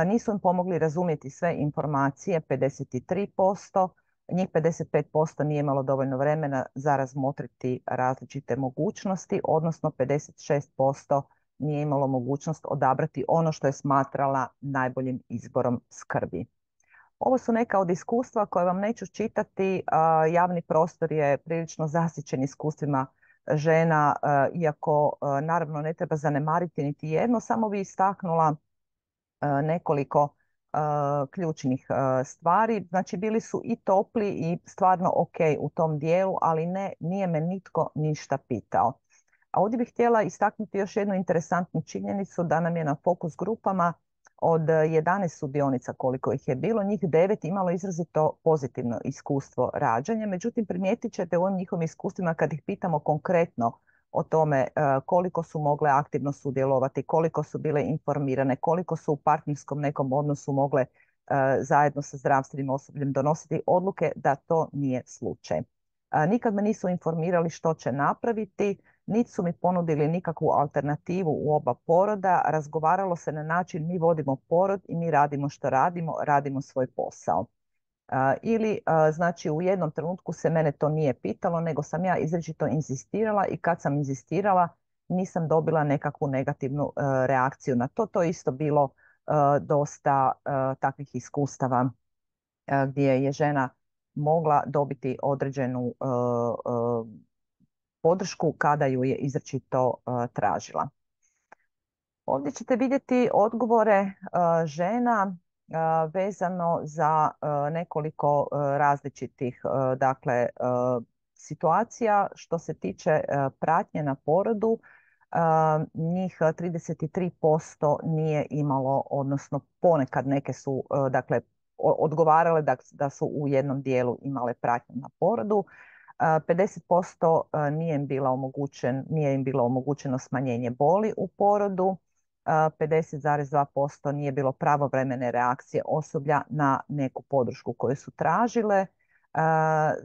Speaker 1: Nisu im pomogli razumjeti sve informacije, pedeset tri posto. Njih pedeset pet posto nije imalo dovoljno vremena za razmotriti različite mogućnosti, odnosno pedeset šest posto nije imalo mogućnost odabrati ono što je smatrala najboljim izborom skrbi. Ovo su neka od iskustva koje vam neću čitati. Javni prostor je prilično zasićen iskustvima žena, iako naravno ne treba zanemariti niti jedno, samo bi istaknula nekoliko ključnih stvari. Znači, bili su i topli i stvarno ok u tom dijelu, ali ne, nije me nitko ništa pitao. A ovdje bih htjela istaknuti još jednu interesantnu činjenicu, da nam je na fokus grupama od jedanaest sudionica koliko ih je bilo, njih devet imalo izrazito pozitivno iskustvo rađanja. Međutim, primijetit ćete u ovim njihovim iskustvima kad ih pitamo konkretno o tome koliko su mogle aktivno sudjelovati, koliko su bile informirane, koliko su u partnerskom nekom odnosu mogle zajedno sa zdravstvenim osobljem donositi odluke, da to nije slučaj. Nikad me nisu informirali što će napraviti, niti su mi ponudili nikakvu alternativu u oba poroda. Razgovaralo se na način mi vodimo porod i mi radimo što radimo, radimo svoj posao. Ili znači u jednom trenutku se mene to nije pitalo, nego sam ja izričito inzistirala i kad sam inzistirala nisam dobila nekakvu negativnu reakciju na to. To je isto bilo dosta takvih iskustava gdje je žena mogla dobiti određenu podršku kada ju je izričito tražila. Ovdje ćete vidjeti odgovore žena vezano za nekoliko različitih dakle, situacija. Što se tiče pratnje na porodu, njih trideset tri posto nije imalo, odnosno ponekad neke su dakle, odgovarale da, da su u jednom dijelu imale pratnju na porodu. pedeset posto nije im, bila omogućen, nije im bilo omogućeno smanjenje boli u porodu. pedeset zarez dva posto nije bilo pravovremene reakcije osoblja na neku podršku koju su tražile.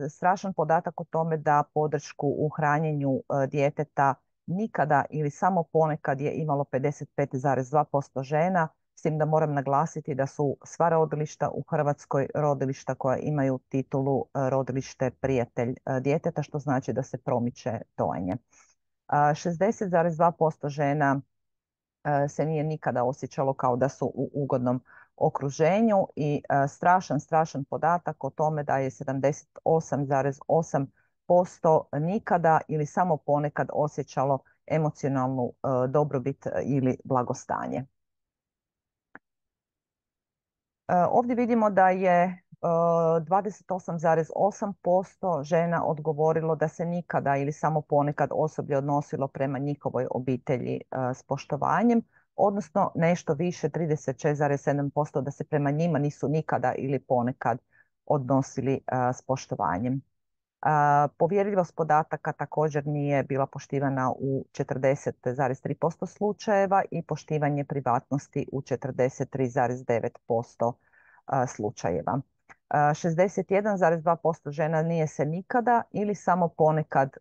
Speaker 1: Strašan podatak o tome da podršku u hranjenju djeteta nikada ili samo ponekad je imalo pedeset pet zarez dva posto žena, s tim da moram naglasiti da su sva rodilišta u Hrvatskoj rodilišta koja imaju titulu rodilište prijatelj djeteta, što znači da se promiče dojenje. šezdeset zarez dva posto žena se nije nikada osjećalo kao da su u ugodnom okruženju i strašan, strašan podatak o tome da je sedamdeset osam zarez osam posto nikada ili samo ponekad osjećalo emocionalnu dobrobit ili blagostanje. Ovdje vidimo da je dvadeset osam zarez osam posto žena odgovorilo da se nikada ili samo ponekad osoblje odnosilo prema njihovoj obitelji s poštovanjem, odnosno nešto više, trideset šest zarez sedam posto da se prema njima nisu nikada ili ponekad odnosili s poštovanjem. Povjerljivost podataka također nije bila poštivana u četrdeset zarez tri posto slučajeva i poštivanje privatnosti u četrdeset tri zarez devet posto slučajeva. šezdeset jedan zarez dva posto žena nije se nikada ili samo ponekad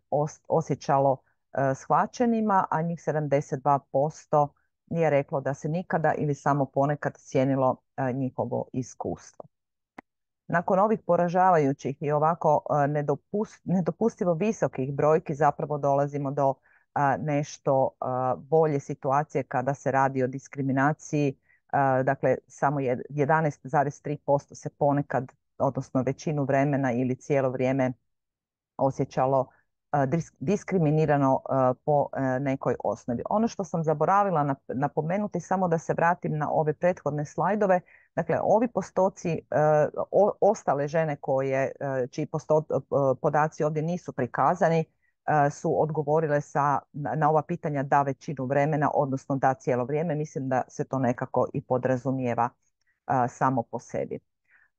Speaker 1: osjećalo shvaćenima, a njih sedamdeset dva posto nije reklo da se nikada ili samo ponekad cijenilo njihovo iskustvo. Nakon ovih poražavajućih i ovako nedopustivo visokih brojki zapravo dolazimo do nešto bolje situacije kada se radi o diskriminaciji. Dakle, samo jedanaest zarez tri posto se ponekad, odnosno većinu vremena ili cijelo vrijeme osjećalo diskriminirano po nekoj osnovi. Ono što sam zaboravila napomenuti, samo da se vratim na ove prethodne slajdove, dakle ovi postoci, ostale žene koje, čiji podaci ovdje nisu prikazani, su odgovorile sa, na ova pitanja da većinu vremena, odnosno da cijelo vrijeme. Mislim da se to nekako i podrazumijeva samo po sebi.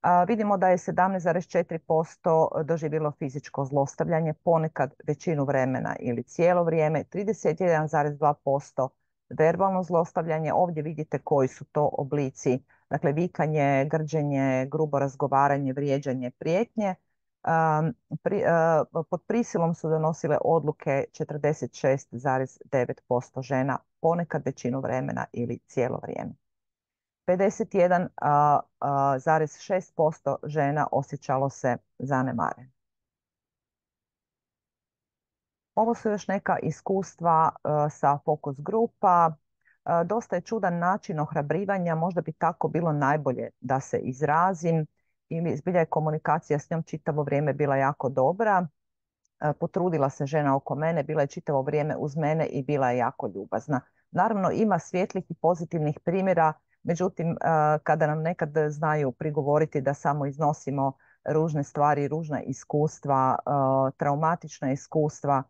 Speaker 1: A, vidimo da je sedamnaest zarez četiri posto doživjelo fizičko zlostavljanje, ponekad većinu vremena ili cijelo vrijeme, trideset jedan zarez dva posto verbalno zlostavljanje. Ovdje vidite koji su to oblici, dakle vikanje, grđenje, grubo razgovaranje, vrijeđanje, prijetnje. Um, pri, uh, pod prisilom su donosile odluke četrdeset šest zarez devet posto žena, ponekad većinu vremena ili cijelo vrijeme. pedeset jedan zarez šest posto žena osjećalo se zanemareno. Ovo su još neka iskustva uh, sa fokus grupa. Uh, dosta je čudan način ohrabrivanja, možda bi tako bilo najbolje da se izrazim, ili zbilja je komunikacija s njom čitavo vrijeme bila jako dobra. Uh, potrudila se žena oko mene, bila je čitavo vrijeme uz mene i bila je jako ljubazna. Naravno, ima svijetlih i pozitivnih primjera, međutim, kada nam nekad znaju prigovoriti da samo iznosimo ružne stvari, ružna iskustva, traumatična iskustva,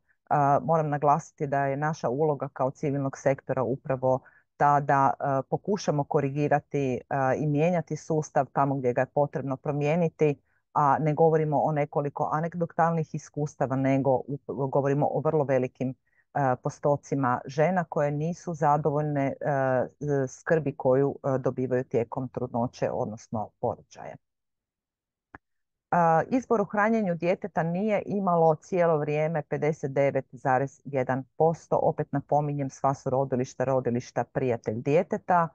Speaker 1: moram naglasiti da je naša uloga kao civilnog sektora upravo ta da pokušamo korigirati i mijenjati sustav tamo gdje ga je potrebno promijeniti, a ne govorimo o nekoliko anegdotalnih iskustava, nego govorimo o vrlo velikim postocima žena koje nisu zadovoljne skrbi koju dobivaju tijekom trudnoće, odnosno porođaja. Izbor u hranjenju djeteta nije imalo cijelo vrijeme pedeset devet zarez jedan posto. Opet napominjem, sva su rodilišta, rodilišta prijatelj djeteta.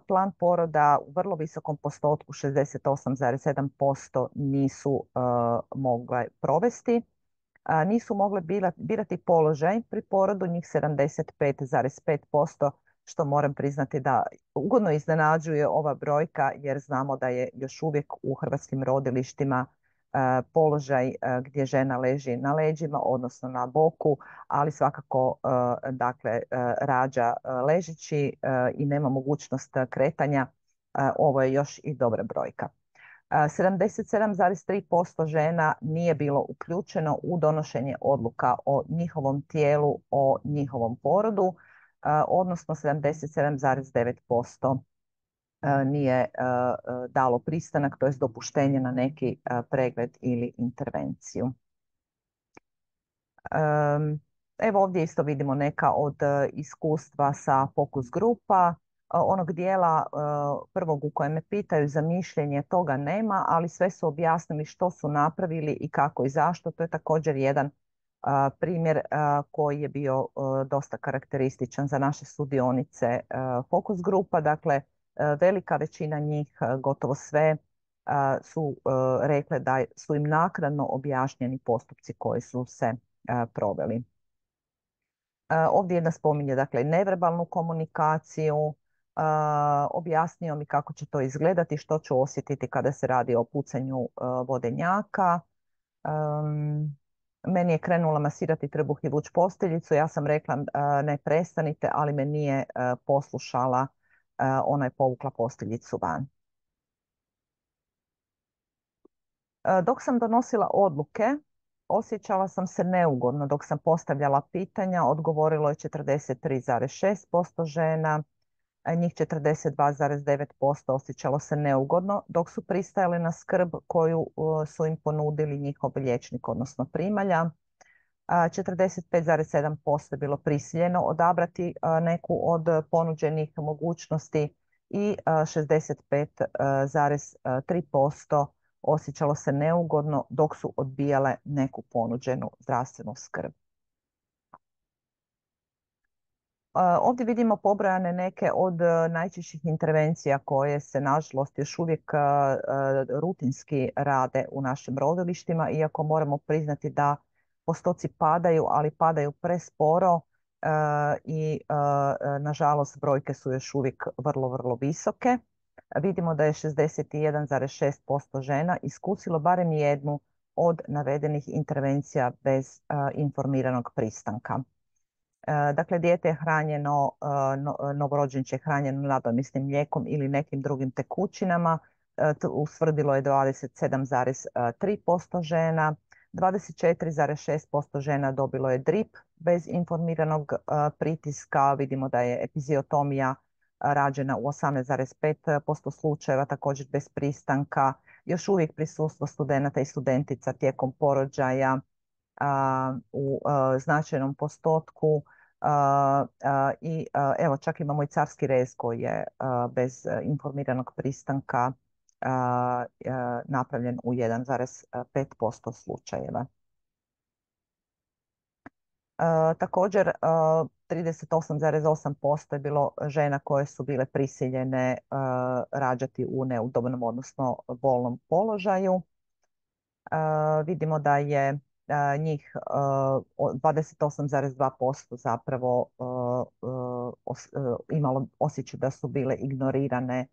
Speaker 1: Plan poroda u vrlo visokom postotku, šezdeset osam zarez sedam posto, nisu mogle provesti. Nisu mogle birati položaj pri porodu, njih sedamdeset pet zarez pet posto, što moram priznati da ugodno iznenađuje ova brojka, jer znamo da je još uvijek u hrvatskim rodilištima položaj gdje žena leži na leđima, odnosno na boku, ali svakako dakle rađa ležeći i nema mogućnost kretanja. Ovo je još i dobra brojka. sedamdeset sedam zarez tri posto žena nije bilo uključeno u donošenje odluka o njihovom tijelu, o njihovom porodu, odnosno sedamdeset sedam zarez devet posto nije dalo pristanak, to jest dopuštenje na neki pregled ili intervenciju. Evo ovdje isto vidimo neka od iskustva sa fokus grupa. Onog dijela prvog u kojem me pitaju za mišljenje, toga nema, ali sve su objasnili što su napravili i kako i zašto. To je također jedan Primjer koji je bio dosta karakterističan za naše sudionice fokus grupa, dakle velika većina njih, gotovo sve, su rekle da su im naknadno objašnjeni postupci koji su se proveli. Ovdje jedna spominje dakle neverbalnu komunikaciju, objasnio mi kako će to izgledati, što ću osjetiti kada se radi o pucanju vodenjaka. Um, meni je krenula masirati trbuh i vuč posteljicu. Ja sam rekla uh, ne prestanite, ali me nije uh, poslušala. Uh, ona je povukla posteljicu van. Uh, dok sam donosila odluke, osjećala sam se neugodno. Dok sam postavljala pitanja, odgovorilo je četrdeset tri zarez šest posto žena. Njih četrdeset dva zarez devet posto osjećalo se neugodno dok su pristajali na skrb koju su im ponudili njihov liječnik, odnosno primalja. četrdeset pet zarez sedam posto je bilo prisiljeno odabrati neku od ponuđenih mogućnosti i šezdeset pet zarez tri posto osjećalo se neugodno dok su odbijale neku ponuđenu zdravstvenu skrb. Ovdje vidimo pobrojane neke od najčešćih intervencija koje se nažalost još uvijek rutinski rade u našim rodilištima, iako moramo priznati da postoci padaju, ali padaju presporo i nažalost brojke su još uvijek vrlo, vrlo visoke. Vidimo da je šezdeset jedan zarez šest posto žena iskusilo barem jednu od navedenih intervencija bez informiranog pristanka. Dakle, dijete je hranjeno, novorođenče je hranjeno nadomjesnim mlijekom ili nekim drugim tekućinama. Ustvrdilo je dvadeset sedam zarez tri posto žena, dvadeset četiri zarez šest posto žena dobilo je drip bez informiranog pritiska. Vidimo da je epiziotomija rađena u osamnaest zarez pet posto slučajeva, također bez pristanka. Još uvijek prisustvo studenata i studentica tijekom porođaja u značajnom postotku. I evo, čak imamo i carski rez koji je bez informiranog pristanka napravljen u jedan zarez pet posto slučajeva. Također trideset osam zarez osam posto je bilo žena koje su bile prisiljene rađati u neudobnom, odnosno bolnom položaju. Vidimo da je njih dvadeset osam zarez dva posto zapravo imalo osjećaj da su bile ignorirane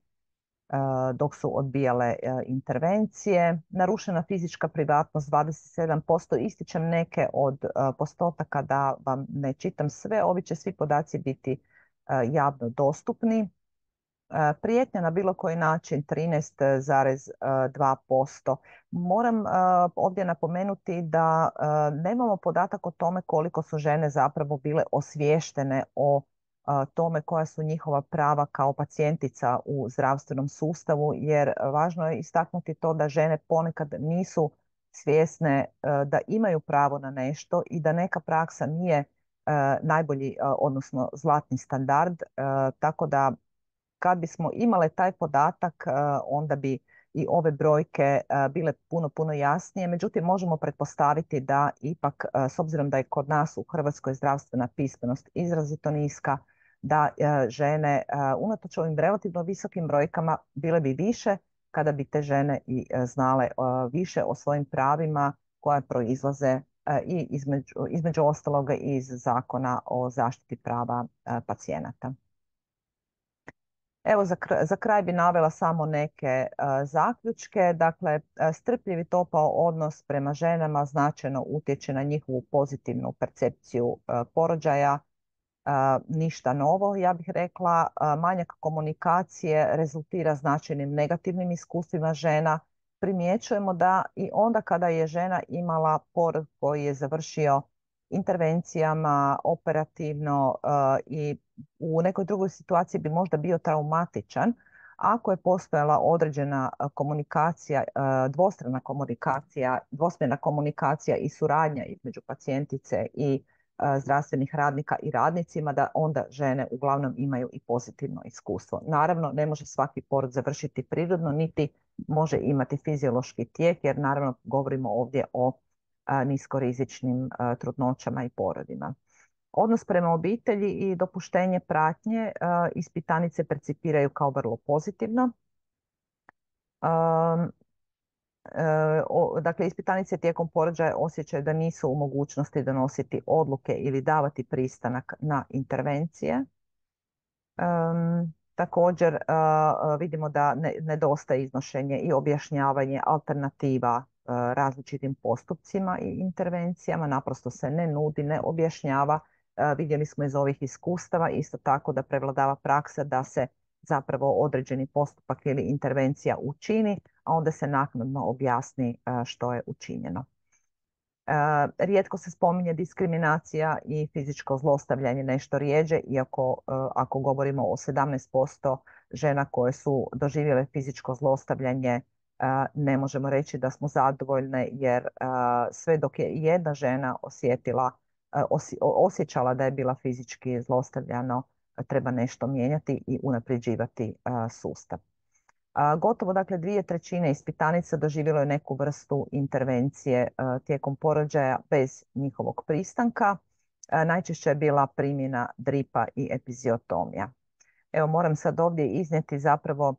Speaker 1: dok su odbijale intervencije. Narušena fizička privatnost dvadeset sedam posto. Ističem neke od postotaka da vam ne čitam sve. Ovi će svi podaci biti javno dostupni. Prijetnja na bilo koji način trinaest zarez dva posto. Moram ovdje napomenuti da nemamo podatak o tome koliko su žene zapravo bile osviještene o tome koja su njihova prava kao pacijentica u zdravstvenom sustavu, jer važno je istaknuti to da žene ponekad nisu svjesne da imaju pravo na nešto i da neka praksa nije najbolji, odnosno zlatni standard, tako da kad bismo imale taj podatak, onda bi i ove brojke bile puno, puno jasnije. Međutim, možemo pretpostaviti da ipak, s obzirom da je kod nas u Hrvatskoj zdravstvena pismenost izrazito niska, da žene unatoč ovim relativno visokim brojkama bile bi više kada bi te žene i znale više o svojim pravima koja proizlaze i između, između ostaloga iz Zakona o zaštiti prava pacijenata. Evo, za kraj, za kraj bi navela samo neke uh, zaključke. Dakle, uh, strpljiv i topao odnos prema ženama značajno utječe na njihovu pozitivnu percepciju uh, porođaja. Uh, ništa novo, ja bih rekla. Uh, manjak komunikacije rezultira značajnim negativnim iskustvima žena. Primjećujemo da i onda kada je žena imala porod koji je završio intervencijama operativno uh, i u nekoj drugoj situaciji bi možda bio traumatičan, ako je postojala određena komunikacija, dvostrana komunikacija, dvosmjerna komunikacija i suradnja između pacijentice i zdravstvenih radnika i radnicima, da onda žene uglavnom imaju i pozitivno iskustvo. Naravno, ne može svaki porod završiti prirodno, niti može imati fiziološki tijek, jer naravno govorimo ovdje o niskorizičnim trudnoćama i porodima. Odnos prema obitelji i dopuštenje pratnje ispitanice percipiraju kao vrlo pozitivno. Dakle, ispitanice tijekom porođaja osjećaju da nisu u mogućnosti donositi odluke ili davati pristanak na intervencije. Um, također uh, vidimo da ne, nedostaje iznošenje i objašnjavanje alternativa uh, različitim postupcima i intervencijama, naprosto se ne nudi, ne objašnjava. Uh, vidjeli smo iz ovih iskustava isto tako da prevladava praksa da se zapravo određeni postupak ili intervencija učini, a onda se naknadno objasni uh, što je učinjeno. Uh, rijetko se spominje diskriminacija i fizičko zlostavljanje nešto rjeđe, iako uh, ako govorimo o sedamnaest posto žena koje su doživjele fizičko zlostavljanje, uh, ne možemo reći da smo zadovoljne, jer uh, sve dok je jedna žena osjetila, uh, osje, osjećala da je bila fizički zlostavljano, uh, treba nešto mijenjati i unapređivati uh, sustav. A, gotovo dakle dvije trećine ispitanica doživjelo je neku vrstu intervencije a, tijekom porođaja bez njihovog pristanka. A, najčešće je bila primjena dripa i epiziotomija. Evo, moram sad ovdje iznijeti zapravo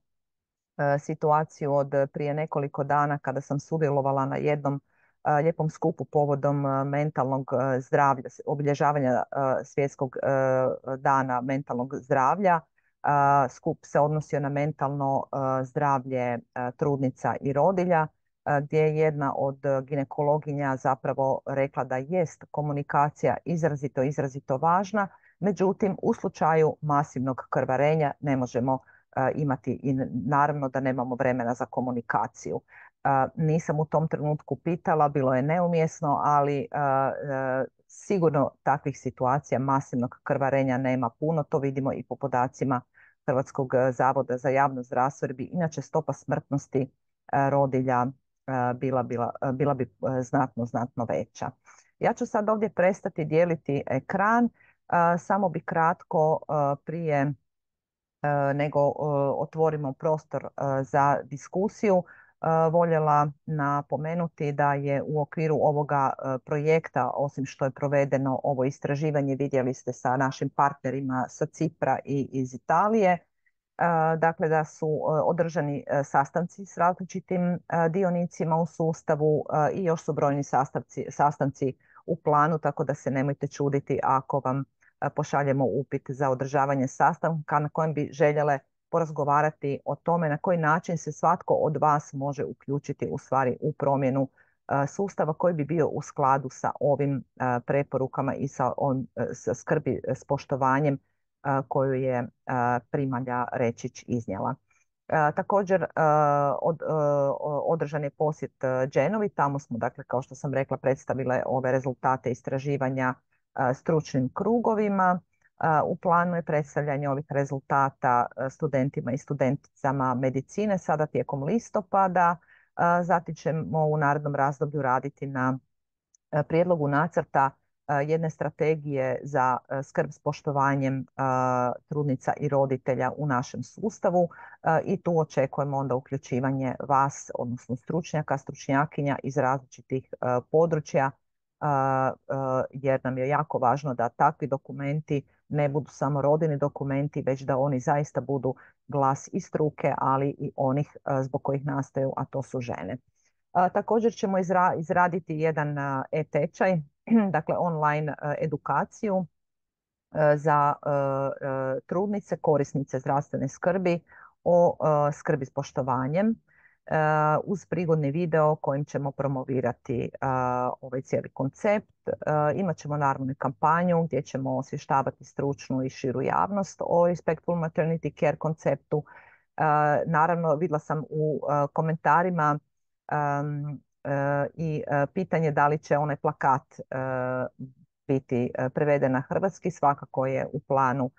Speaker 1: a, situaciju od prije nekoliko dana kada sam sudjelovala na jednom a, lijepom skupu povodom a, mentalnog a, zdravlja, obilježavanja a, svjetskog a, dana mentalnog zdravlja. Uh, skup se odnosio na mentalno uh, zdravlje uh, trudnica i rodilja, uh, gdje je jedna od ginekologinja zapravo rekla da jest komunikacija izrazito, izrazito važna, međutim u slučaju masivnog krvarenja ne možemo uh, imati i naravno da nemamo vremena za komunikaciju. Uh, nisam u tom trenutku pitala, bilo je neumjesno, ali uh, uh, sigurno takvih situacija masivnog krvarenja nema puno, to vidimo i po podacima Hrvatskog zavoda za javno zdravstvo, jer bi inače stopa smrtnosti rodilja bila, bila, bila bi znatno, znatno veća. Ja ću sad ovdje prestati dijeliti ekran, samo bi kratko prije nego otvorimo prostor za diskusiju voljela napomenuti da je u okviru ovoga projekta, osim što je provedeno ovo istraživanje, vidjeli ste sa našim partnerima sa Cipra i iz Italije, dakle da su održani sastanci s različitim dionicima u sustavu i još su brojni sastavci, sastanci u planu, tako da se nemojte čuditi ako vam pošaljemo upit za održavanje sastanka na kojem bi željele porazgovarati o tome na koji način se svatko od vas može uključiti u stvari u promjenu sustava koji bi bio u skladu sa ovim preporukama i sa, on, sa skrbi s poštovanjem koju je primalja Rečić iznijela. Također od, održan je posjet Genovi, tamo smo, dakle, kao što sam rekla, predstavile ove rezultate istraživanja stručnim krugovima. U planu je predstavljanje ovih rezultata studentima i studenticama medicine sada tijekom listopada. Zatim ćemo u narednom razdoblju raditi na prijedlogu nacrta jedne strategije za skrb s poštovanjem trudnica i roditelja u našem sustavu i tu očekujemo onda uključivanje vas, odnosno stručnjaka, stručnjakinja iz različitih područja, jer nam je jako važno da takvi dokumenti ne budu samo rodini dokumenti, već da oni zaista budu glas i struke, ali i onih zbog kojih nastaju, a to su žene. Također ćemo izra izraditi jedan e-tečaj, dakle online edukaciju za trudnice, korisnice zdravstvene skrbi o skrbi s poštovanjem, uz prigodni video kojim ćemo promovirati ovaj cijeli koncept. Imat ćemo naravno kampanju gdje ćemo osvještavati stručnu i širu javnost o Respectful Maternity Care konceptu. Naravno, vidjela sam u komentarima um, i pitanje da li će onaj plakat biti preveden na hrvatski. Svakako je u planu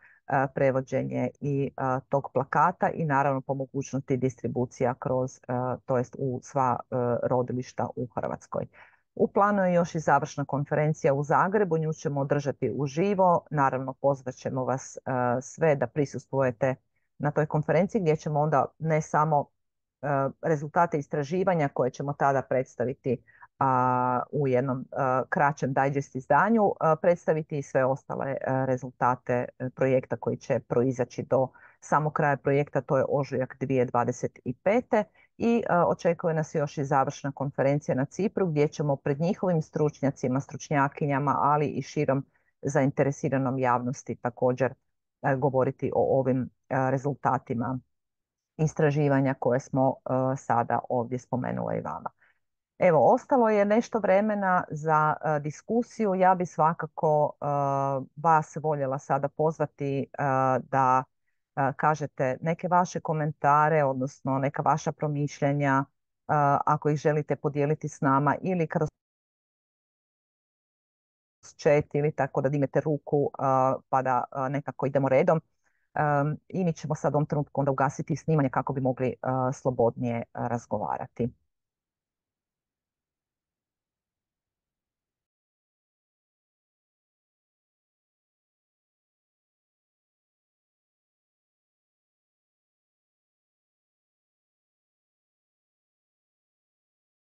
Speaker 1: prevođenje i tog plakata i naravno po mogućnosti distribucija kroz, to jest u sva rodilišta u Hrvatskoj. U planu je još i završna konferencija u Zagrebu, nju ćemo održati uživo. Naravno, pozvat ćemo vas sve da prisustvujete na toj konferenciji gdje ćemo onda ne samo rezultate istraživanja koje ćemo tada predstaviti u jednom kraćem digest izdanju, predstaviti i sve ostale rezultate projekta koji će proizaći do samog kraja projekta, to je ožujak dvije tisuće dvadeset pete. I očekuje nas još i završna konferencija na Cipru gdje ćemo pred njihovim stručnjacima, stručnjakinjama, ali i širom zainteresiranom javnosti također govoriti o ovim rezultatima istraživanja koje smo sada ovdje spomenula i vama. Evo, ostalo je nešto vremena za uh, diskusiju. Ja bi svakako uh, vas voljela sada pozvati uh, da uh, kažete neke vaše komentare, odnosno neka vaša promišljanja, uh, ako ih želite podijeliti s nama ili kroz chat ili tako da dignete ruku uh, pa da uh, nekako idemo redom. Um, I mi ćemo sad u ovom trenutku onda ugasiti snimanje kako bi mogli uh, slobodnije uh, razgovarati.